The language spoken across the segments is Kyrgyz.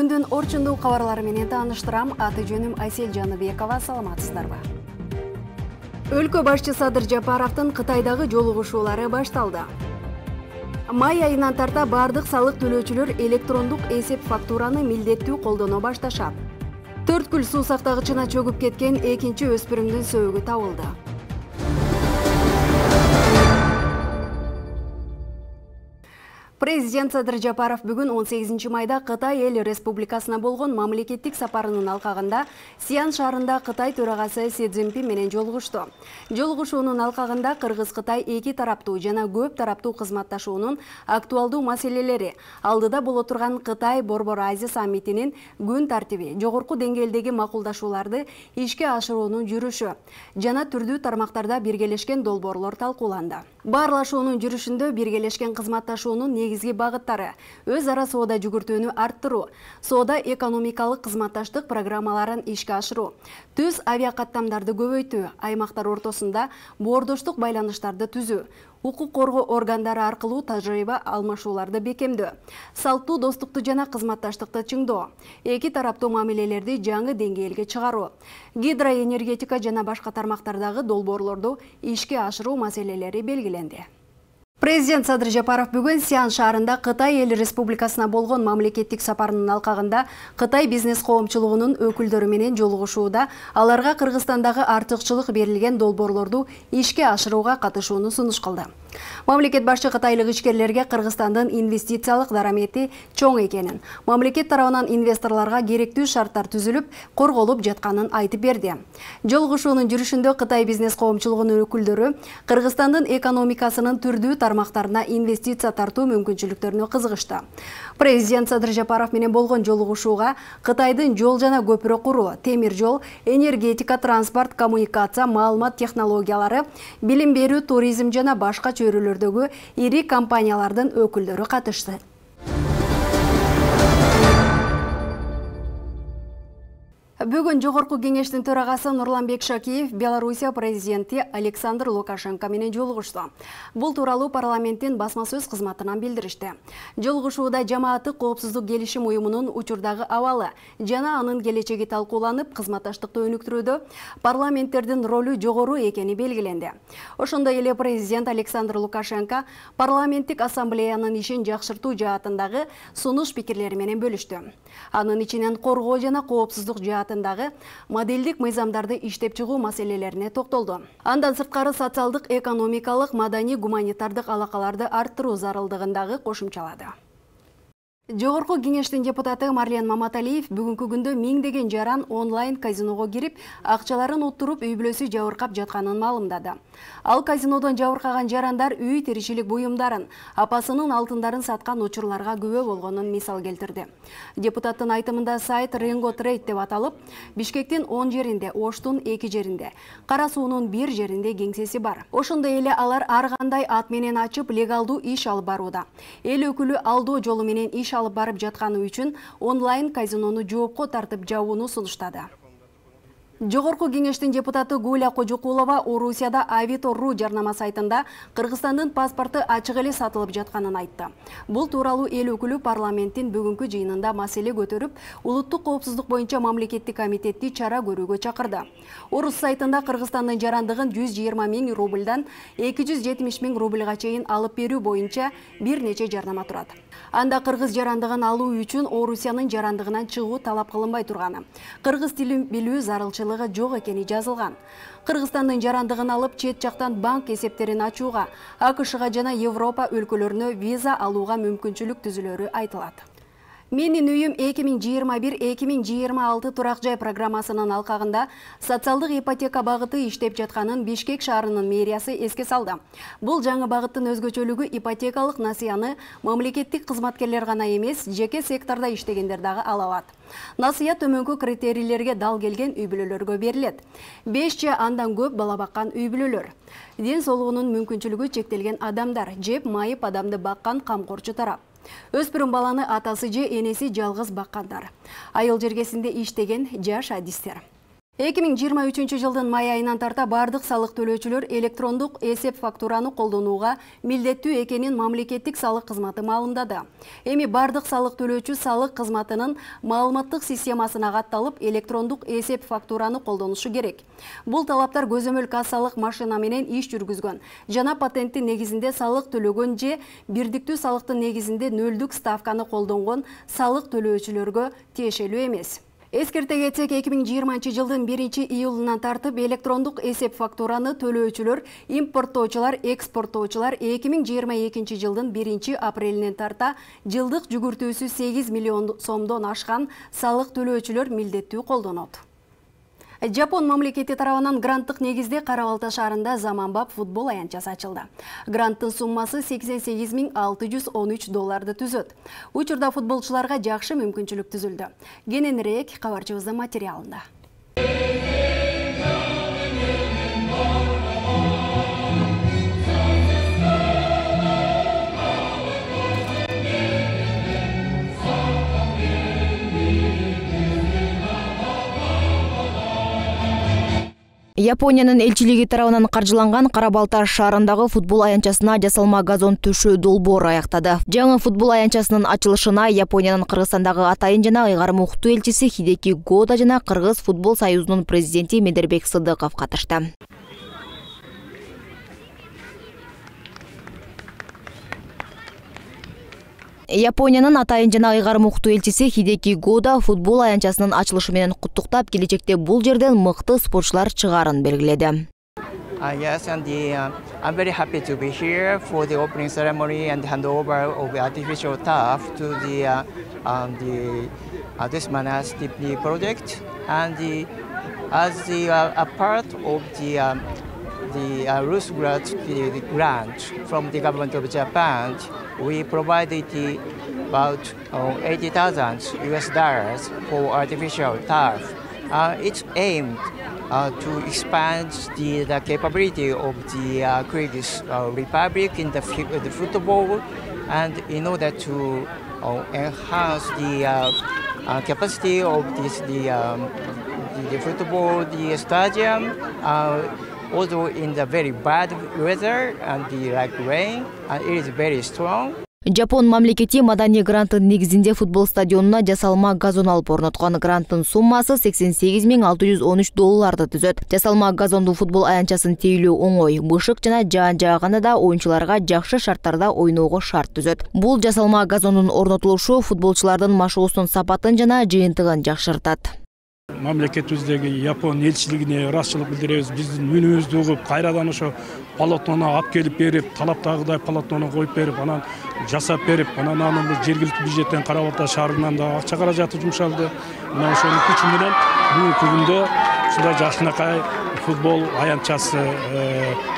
Күндүн орчундуу кабарлары менен тааныштырам. Аты жөнүм Айсел Жаныбекова. Саламатсыздарбы? Өлкө башчы Садыр Жапаровдун Кытайдагы жолугушуулары башталды. Май айынан тарта бардык салык төлөөчүлөр электрондук эсеп фактураны милдеттүү колдоно башташат. 4 күл суу сактагычына чөгүп кеткен экинчи өспүрүмдүн сөөгү табылды. Президент Садыр Жапаров бүгүн 18 майда Кытай эл республикасына болгон мамлекеттик сапарынын алкагында Сиан шаарында Кытай төрагасы Си Цзиньпин менен жолугушту. Жолугушуунун алкагында Кыргыз-Кытай эки тараптуу жана көп тараптуу кызматташуунун актуалдуу маселелери, алдыда боло турган Кытай Борбор Азия саммитинин күн тартиби, жогорку деңгээлдеги макулдашууларды ишке ашыруунун жүрүшү жана түрдүү тармактарда биргелешкен долбоорлор талкууланды. Баарлашуунун жүрүшүндө биргелешкен кызматташуунун негизги багыттары: өз ара соода жүгүртүүнү арттыруу, соода экономикалык кызматташтык программаларын ишке ашыруу, түз авиакаттамдарды көбөйтүү, аймактар ортосунда боордоштук байланыштарды түзүү, укук коргоо органдары аркылуу тажрыйба алмашууларды бекемдөө, салттуу достукту жана кызматташтыкты чыңдоо, эки тараптуу мамилелерди жаңы деңгээлге чыгаруу, гидроэнергетика жана башка тармактардагы долбоорлорду ишке ашыруу маселелери белгиленди. Президент Садыр Жапаров бүгүн Сиан шаарында Кытай эл республикасына болгон мамлекеттик сапарынын алкагында Кытай бизнес коомчулугунун өкүлдөрү менен жолугушууда аларга Кыргызстандагы артыкчылык берилген долбоорлорду ишке ашырууга катышууну сунуш кылды. Мамлекет башчы кытайлык ишкерлерге Кыргызстандын инвестициялык дарамети чоң экенин, мамлекет тарабынан инвесторлорго керектүү шарттар түзүлүп, корголуп жатканын айтып берди. Жолугушуунун жүрүшүндө Кытай бизнес коомчулугунун өкүлдөрү Кыргызстандын экономикасынын түрдүү тармактарына инвестиция тартуу мүмкүнчүлүктөрүнө кызыгышты. Президент Садыр Жапаров менен болгон жолугушууга Кытайдын жол жана көпүрө куруу, темир жол, энергетика, транспорт, коммуникация, маалымат технологиялары, билим берүү, туризм жана башка чөйрөлөрдөгү ири компаниялардын өкүлдөрү катышты. Бүгүн жогорку кеңештин төрагасы Нурланбек Шакиев Белоруссия президенти Александр Лукашенко менен жолугушту. Бул тууралуу парламенттин басма сөз кызматынан билдиришти. Жолугушууда жамааттык коопсуздук келишим уюмунун учурдагы абалы жана анын келечеги талкууланып, кызматташтыкты өнүктүрүүдө парламенттердин ролу жогору экени белгиленди. Ошондой эле президент Александр Лукашенко парламенттик ассамблеянын ишин жакшыртуу жаатындагы сунуш пикирлери менен бөлүштү. Анын ичинен коргоо жана коопсуздук жаатындагы модельдик мыйзамдарды иштеп чыгуу маселелерине токтолду. Андан сырткары социалдык, экономикалык, маданий, гуманитардык алакаларды арттыруу зарылдыгын кошумчалады. Жогорку кеңештин депутаты Марлен Маматалиев бүгүнкү күндө миңдеген жаран онлайн казиного кирип, акчаларын уттуруп, үй бүлөсү жабыркап жатканын маалымдады. Ал казинодон жабыркаган жарандар үй тиричилик буюмдарын, апасынын алтындарын саткан учурларга күбө болгонун мисал келтирди. Депутаттын айтымында сайт Ренго Трейд деп аталып, Бишкектин 10 жеринде, Оштун 2 жеринде, Кара суунун 1 жеринде кеңсеси бар. Ошондой эле алар ар кандай ат менен ачып, легалдуу иш алып барууда. Эл өкүлү алдоо жолу менен иш алып барып жатканы үчүн онлайн казинону жоопко тартып жабууну сунуштады. Жогорку кеңештин депутаты Гуля Кожукулова Орусияда Авито.ру жарнама сайтында Кыргызстандын паспорту ачык эле сатылып жатканын айтты. Бул тууралуу эл өкүлү парламенттин бүгүнкү жыйынында маселе көтөрүп, улуттук коопсуздук боюнча мамлекеттик комитетти чара көрүүгө чакырды. Орус сайтында Кыргызстандын жарандыгын 120 000 рубльдан 270 000 рубльга чейин алып берүү боюнча бир нече жарнама турат. Анда кыргыз жарандыгын алуу үчүн Орусиянын жарандыгынан чыгуу талап кылынбай турганы, кыргыз тилин билүү зарылчылыгы жок экени жазылган. Кыргызстандын жарандыгын алып, чет жактан банк эсептерин ачууга, АКШга жана Европа өлкөлөрүнө виза алууга мүмкүнчүлүк түзүлөрү айтылат. Менин үйүм 2021-2026 турак жай программасынын алкагында социалдык ипотека багыты иштеп жатканын Бишкек шаарынын мэриясы эске салды. Бул жаңы багыттын өзгөчөлүгү ипотекалык насыяны мамлекеттик кызматкерлер гана эмес, жеке сектордо иштегендер дагы ала алат. Насыя төмөнкү критерийлерге дал келген үй бүлөлөргө берилет. 5 же андан көп бала баккан үй бүлөлөр, ден соолугунун мүмкүнчүлүгү чектелген адамдар, жеп майып адамды баккан камкорчу тарап, өспүрүм баланы атасы же энеси жалгыз баккандар, айыл жергесинде иштеген жаш адистер. 2023 жылдын май айынан тарта бардык салык төлөөчүлөр электрондук эсеп фактураны колдонууга милдеттүү экенин мамлекеттик салык кызматы маалымдады. Эми бардык салык төлөөчү салык кызматынын маалыматтык системасына катталып, электрондук эсеп фактураны колдонушу керек. Бул талаптар көзөмөл кассалык машина менен иш жүргүзгөн жана патенттин негизинде салык төлөгөн же бирдиктүү салыктын негизинде нөлдүк ставканы колдонгон салык төлөөчүлөргө тиешелүү эмес. Эскерте кетсек, 2020 жылдын 1-июлунан тартып электрондук эсеп фактураны төлөөчүлөр, импорттоочулар, экспорттоочулар 2022 жылдын 1-апрелинен тарта жылдык жүгүртүүсү 8 миллион сомдон ашкан салык төлөөчүлөр милдеттүү колдонот. Жапон мамлекети тарабынан гранттык негизде Кара Балта шаарында заманбап футбол аянтчасы ачылды. Гранттын суммасы $88,613 түзөт. Учурда футболчуларга жакшы мүмкүнчүлүк түзүлдү. Кененирээк кабарчыбыздын материалында. Япониянын элчилиги тарабынан каржыланган Кара Балта шаарындагы футбол аянтчасына жасалма газон төшөө долбоор аяктады. Жаңы футбол аянтчасынын ачылышына Япониянын Кыргызстандагы атайын жана ыйгарым уктуу элчиси Хидеки Года жана Кыргыз футбол союзунун президенти Медербек Сыдыков катышты. Япониянын атайын жана ыйгарым уктуу элчиси Хидеки Года футбол аянтчасынын ачылышы менен куттуктап, келечекте бул жерден мыкты спортчулар чыгаарын белгиледи. Yes, and I'm very happy to be here for the opening ceremony and handover of the artificial turf to this Manastipli project. And as a part of the Rus grant from the government of Japan, we provided about $80,000 for artificial turf. It's aimed to expand the capability of the Kyrgyz Republic in the football, and in order to enhance the capacity of the football, the stadium. Although in the very bad weather and like rain, it is very strong. Жапон мамлекети маданий гранттын негизинде футбол стадионуна жасалма газон алып орноткон. Гранттын суммасы $88,613 түзөт. Жасалма газондуу футбол аянтчасын тейлөө оңой. Бышык жана жаан жааганда да оюнчуларга жакшы шарттарда ойноого шарт түзөт. Бул жасалма газондун орнотулушу футболчулардын машыгуусунун сапатын жана жыйынтыгын жакшыртат. Мамлекетибиздеги Япон элчилигине ыраазычылык билдиребиз. Биздин үнүбүздү угуп, кайрадан ошо полотнону алып келип берип, талаптагыдай полотнону коюп берип, анан жасап берип, анан бул жергиликтүү бюджеттен Кара Балта шаарынан да акча каражаты жумшалды. Мына ошонун күчү менен бүгүнкү күндө ушундай жакшынакай футбол аянтчасы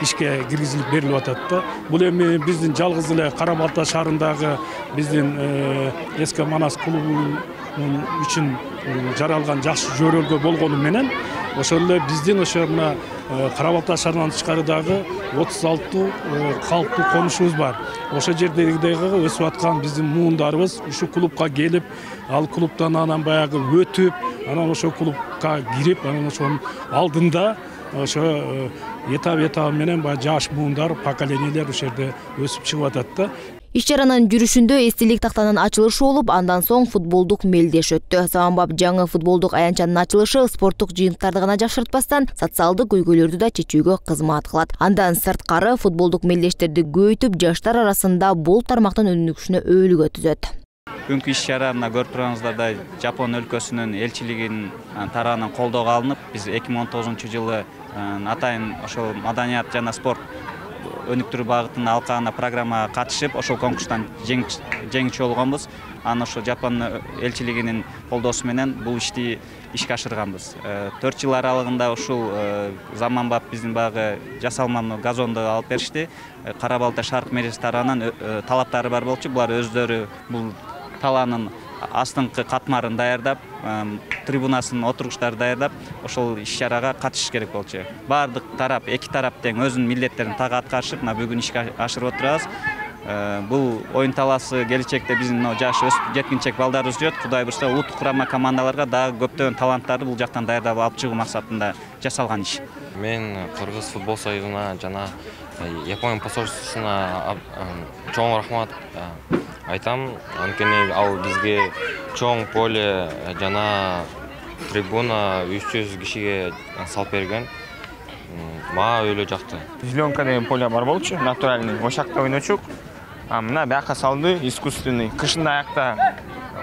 ишке киргизилип берилип атат да. Бул эми биздин жалгыз эле Кара Балта шаарындагы биздин эски Манас клубунун үчүн жаралган жакшы жөрөлгө болгону менен ошол эле биздин ошо мына Кара Балта шаарынан тышкарыдагы 36 калктуу конушубуз бар. Ошол жердеги өсүп аткан биздин муундарыбыз ушу клубка келип, ал клубтан анан баягы өтүп, анан ошол клубка кирип, анан ошонун алдында ошо этап менен баягы жаш муундар, поколениялер ошол жерде өсүп чыгып атат да. Иш-чаранын жүрүшүндө эстелик тактанын ачылышы болуп, андан соң футболдук мелдеш өттү. Заманбап жаңы футболдук аянтчанын ачылышы спорттук жыйынтыктарды гана жакшыртпастан, социалдык көйгөйлөрдү да чечүүгө кызмат кылат. Андан сырткары футболдук мелдештерди көбөйтүп, жаштар арасында бул тармактын өнүгүшүнө өбөлгө түзөт. Бүгүнкү иш-чара мына көрүп тургансыздардай Жапон өлкөсүнүн элчилигинин тарабынан колдоого алынып, биз 2019 жылы атайын ошол маданият жана спорт өнүктүрүү багытында алкагына программага катышып, ошол конкурстан жеңүүчү болгонбуз. Анан ошо Жапон элчилигинин колдоосу менен бул ишти ишке ашырганбыз. 4 жыл аралыгында ушул заманбап биздин багы жасалма газонду алып беришти. Кара Балта шааркы мэрияси тарабынан талаптары бар болчу. Булар өздөрү бул талаанын астыңкы катмарын даярдап, трибунасын, отургучтарды даярдап, ошол иш-чарага катышыш керек болчу. Бардык тарап, эки тарап тең өзүнүн милдеттерин так аткарышып, бүгүн ишке ашырып отурабыз. Бул оюн талаасы келечекте биздин жаш өсүп жеткинчек балдарыбыз жүрөт. Кудай буйрса улуттук курама командаларга дагы көптөгөн таланттарды бул жактан даярдап алып чыгуу максатында жасалган иш. Мен Кыргыз футбол союзуна жана Япония посольствосуна чоң рахмат айтам. Анткени ал бизге чоң поле жана трибуна 300 кишиге салып берген. Мага өйлө жакты. Зеленка деген поле бар болчу, натуральный. Ошакта ойночук. Мына бияка салды, искусственный. Кышында аякта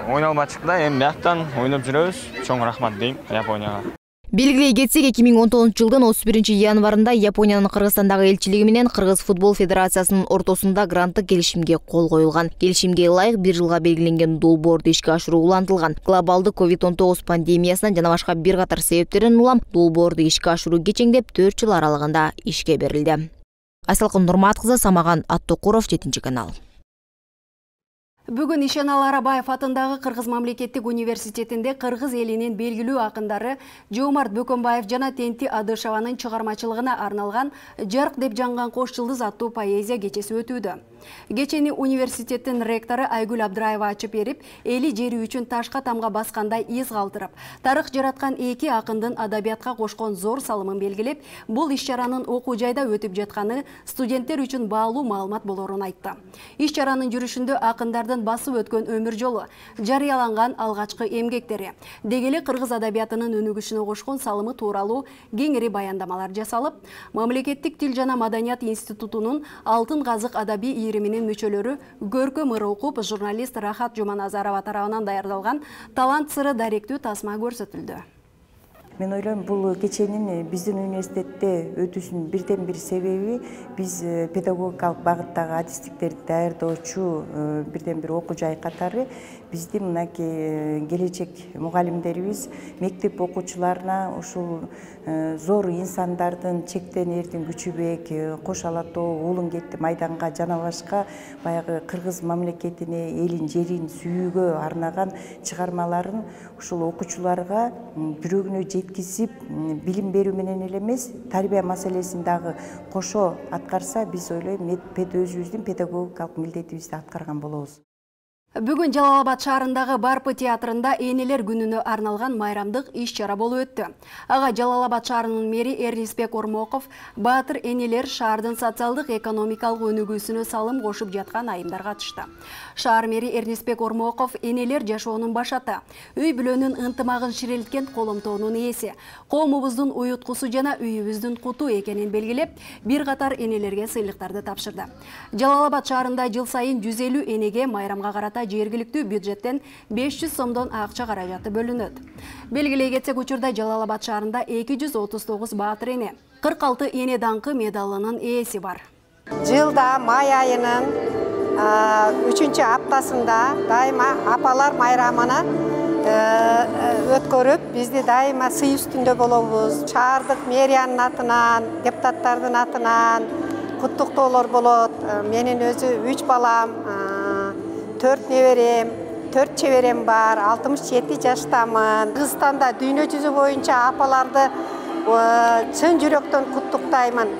ойнолбачык да, эми бияктан ойноп жүрөбүз. Чоң рахмат дейм Японияга. Белгилей кетсек, 2019 жылдын 31 январында Япониянын Кыргызстандагы элчилиги менен Кыргыз футбол федерациясынын ортосунда гранттык келишимге кол коюлган. Келишимге ылайык 1 жылга белгиленген долбоорду ишке ашыруу улантылган. Глобалдык COVID-19 пандемиясынан жана башка бир катар себептерден улам долбоорду ишке ашыруу кечеңдеп 4 жыл аралыгында ишке берилди. Айсалкын Нурмат кызы, Самаган Аттокуров, 7-канал. Бүгүн Ишенал Арабаев атындагы Кыргыз мамлекеттик университетинде кыргыз элинин белгилүү акындары Жоомарт Бөкөнбаев жана Тенти Адышеванын чыгармачылыгына арналган «Жарк деп жанган кош жылдыз» аттуу поэзия кечеси өтүүдө. Кечени университеттин ректору Айгүл Абдыраева ачып берип, эли жери үчүн ташка тамга баскандай из калтырып, тарых жараткан эки акындын адабиятка кошкон зор салымын белгилеп, бул иш-чаранын окуу жайда өтүп жатканы студенттер үчүн баалуу маалымат болорун айтты. Иш-чаранын жүрүшүндө акындардын басып өткөн өмүр жолу, жарыяланган алгачкы эмгектери, дегеле кыргыз адабиятынын өнүгүшүнө кошкон салымы тууралуу кеңири баяндамалар жасалып, Мамлекеттик тил жана маданият институтунун Алтын казык адабий ириминин мүчөлөрү көркөм ыр окуп, журналист Рахат Жуманазарова тарабынан даярдалган талант сыры даректүү тасма көрсөтүлдү. Мен ойлойм, бул кеченин биздин университетте өтүүсүнүн бирден бир себеби биз педагогикалык багыттагы адистиктерди даярдоочу бирден бир окуу жай катары биздин мынакей келечек мугалимдерибиз мектеп окуучуларына ушул зор инсандардын чектен эрдин Күчүбек, Кош Алатоо, Уулун кетти майданга жана башка баягы кыргыз мамлекетине, элин, жерин сүйүүгө арнаган чыгармаларын ушул окуучуларга жүрөгүнө жеткизип, билим берүү менен эле эмес, тарбия маселесин дагы кошо аткарса, биз ойлойм, өзүбүздүн педагогикалык милдетибизди аткарган болобуз. Бүгүн Жалалабад шаарындагы Барпы театрында Энелер күнүнө арналган майрамдык иш-чара болуп өттү. Ага Жалалабад шаарынын мэри Эрнисбек Ормоков баатыр энелер шаардын социалдык экономикалык өнүгүүсүнө салым кошуп жаткан айымдар катышты. Шаар мэри Эрнисбек Ормоков энелер жашоонун башаты, үй бүлөнүн ынтымагын ширелткен коломтоонун ээси, коомубуздун уюткусу жана үйүбүздүн куту экенин белгилеп, бир катар энелерге сыйлыктарды тапшырды. Жалалабад шаарында жыл сайын 150 энеге майрамга карата жергиликтүү бюджеттен 500 сомдон акча каражаты бөлүнөт. Белгилей кетсек, учурда Жалалабад шаарында 239 баатыр эне, 46 эне даңкы медалынын ээси бар. Жылда май айынын 3-чү аптасында дайыма апалар майрамына өткөрүп, бизди дайыма сый үстүндө болобуз. Шаардык мэриянын атынан, депутаттардын атынан куттуктоолор болот. Менин өзү 3 балам, 4 неберем, 4 чеберем бар, 67 жаштамын. Кыргызстанда дүйнө жүзү боюнча апаларды чын жүрөктөн куттуктаймын.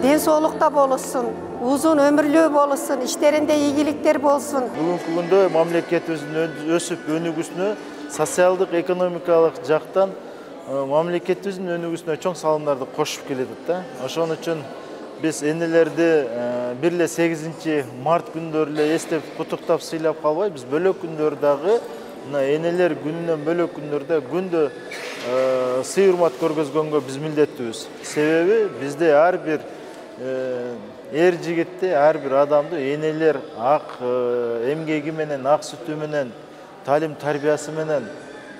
Ден соолукта болушун, узун өмүрлүү болушун, иштеринде ийгиликтер болсун. Бүгүнкү күндө мамлекетибиздин өсүп өнүгүүсүнө, социалдык экономикалык жактан мамлекетибиздин өнүгүүсүнө чоң салымдарды кошуп келатат да. Ошон үчүн биз энелерди бир эле 8 март күндөрү эле эстеп куттуктап сыйлап калбай, биз бөлөк күндөр дагы энелер күнүнөн бөлөк күндөрдө күндө сый урмат көргөзгөнгө биз милдеттүүбүз. Себеби бизде ар бир эр жигитти, ар бир адамды энелер ак эмгеги менен, ак сүтү менен, талим тарбиясы менен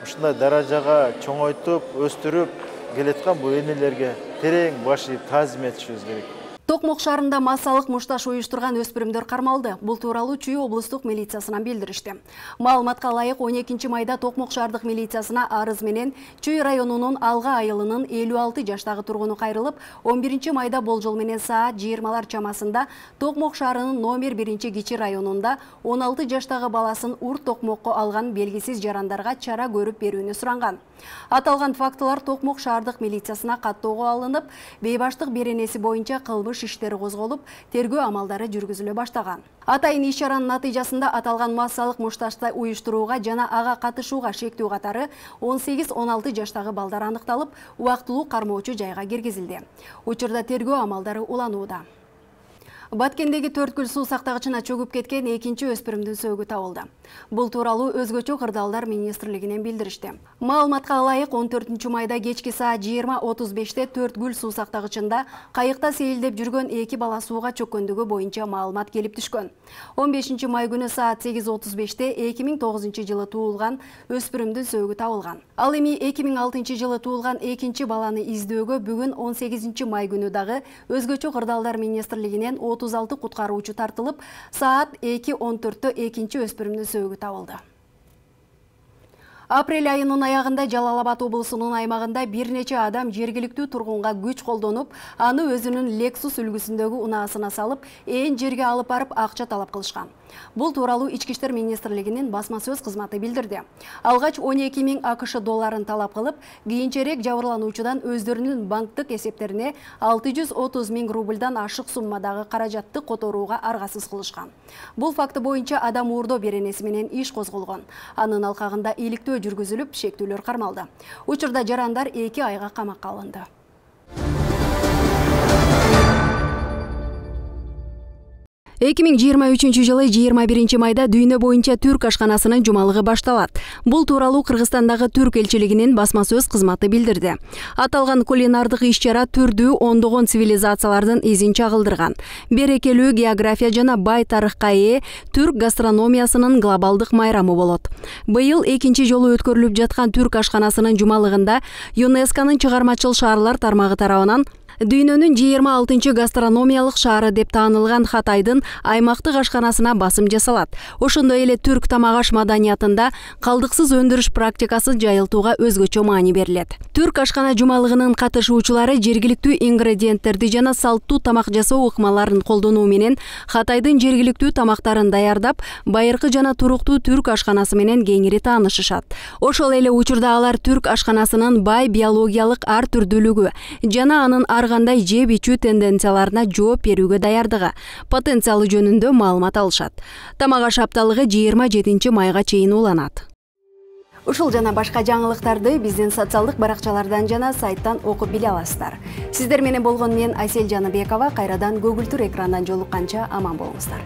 ушундай даражага чоңойтуп, өстүрүп келаткан бул энелерге терең баш ийип таазим этишибиз керек. Токмок шаарында массалык мушташ уюштурган өспүрүмдөр кармалды. Бул тууралуу Чүй облустук милициясынан билдиришти. Маалыматка ылайык 12 майда Токмок шаардык милициясына арыз менен Чүй районунун Алга айылынын 56 жаштагы тургуну кайрылып, 11 майда болжол менен саат 20 чамасында Токмок шаарынын номер 1 кичи районунда 16 жаштагы баласын урт токмокко алган белгисиз жарандарга чара көрүп берүүнү суранган. Аталган фактылар Токмок шаардык милициясына каттоого алынып, бейбаштык беренеси боюнча кылмыш иштери козголуп, тергөө амалдары жүргүзүлө баштаган. Атайын иш-чаранын натыйжасында аталган массалык мушташты уюштурууга жана ага катышууга шектүү катары 18-16 жаштагы балдар аныкталып, убактылуу кармоочу жайга киргизилди. Учурда тергөө амалдары уланууда. Баткендеги Төрткүл суу сактагычына чөгүп кеткен экинчи өспүрүмдүн сөөгү табылды. Бул тууралуу өзгөчө кырдаалдар министрлигинен билдиришти. Маалыматка ылайык 14 майда кечки саат 20:35-те Төрткүл суу сактагычында кайыкта сейилдеп жүргөн 2 бала сууга чөккөндүгү боюнча маалымат келип түшкөн. 15 май күнү саат 8:35-те 2009-жылы туулган өспүрүмдүн сөөгү табылган. Ал эми 2006-жылы туулган экинчи баланы издөөгө бүгүн 18 май күнү дагы өзгөчө кырдаалдар министрлигинен 36 куткаруучу тартылып, саат 2:14-тө экинчи өспүрүмдүн сөөгү табылды. Апрель айынын аягында Жалал Абад облусунун аймагында бир нече адам жергиликтүү тургунга күч колдонуп, аны өзүнүн Lexus үлгүсүндөгү унаасына салып, жерге алып барып акча талап кылышкан. Бул тууралуу Ички иштер министрлигинин басма сөз кызматы билдирди. Алгач 12 000 АКШ долларын талап кылып, кийинчерээк жабырлануучудан өздөрүнүн банктык эсептерине 630 000 рубльдан ашык суммадагы каражатты которууга аргасыз кылышкан. Бул факты боюнча адам уурдоо беренеси менен иш козголгон. Анын алкагында иликтөө жүргүзүлүп, шектүүлөр кармалды. Учурда жарандар 2 айга камакка алынды. 2023-жылы 21 майда дүйнө боюнча түрк ашканасынын жумалыгы башталат. Бул тууралуу Кыргызстандагы түрк элчилигинин басма сөз кызматы билдирди. Аталган кулинардык иш-чара түрдүү ондогон цивилизациялардын изин чагылдырган. Берекелүү география жана бай тарыхка ээ түрк гастрономиясынын глобалдык майрамы болот. Быйыл экинчи жолу өткөрүлүп жаткан түрк ашканасынын жумалыгында ЮНЕСКОнун чыгармачыл шаарлар тармагы тарабынан дүйнөнүн 26 гастрономиялык шаары деп таанылган Хатайдын аймактык ашканасына басым жасалат. Ошондой эле түрк тамак аш маданиятында калдыксыз өндүрүш практикасын жайылтууга өзгөчө маани берилет. Түрк ашкана жумалыгынын катышуучулары жергиликтүү ингредиенттерди жана салттуу тамак жасоо ыкмаларын колдонуу менен Хатайдын жергиликтүү тамактарын даярдап, байыркы жана туруктуу түрк ашканасы менен кеңири таанышышат. Ошол эле учурда алар түрк ашканасынын бай биологиялык ар түрдүүлүгү жана анын кандай жеп ичүү тенденцияларына жооп берүүгө даярдыгы, потенциалы жөнүндө маалымат алышат. Тамак аш апталыгы 27 майга чейин уланат. Ушул жана башка жаңылыктарды биздин социалдык баракчалардан жана сайттан окуп биле аласыздар. Сиздер менен болгон мен Айсел Жаныбекова, кайрадан көгүлтүр экрандан жолукканча аман болуңуздар.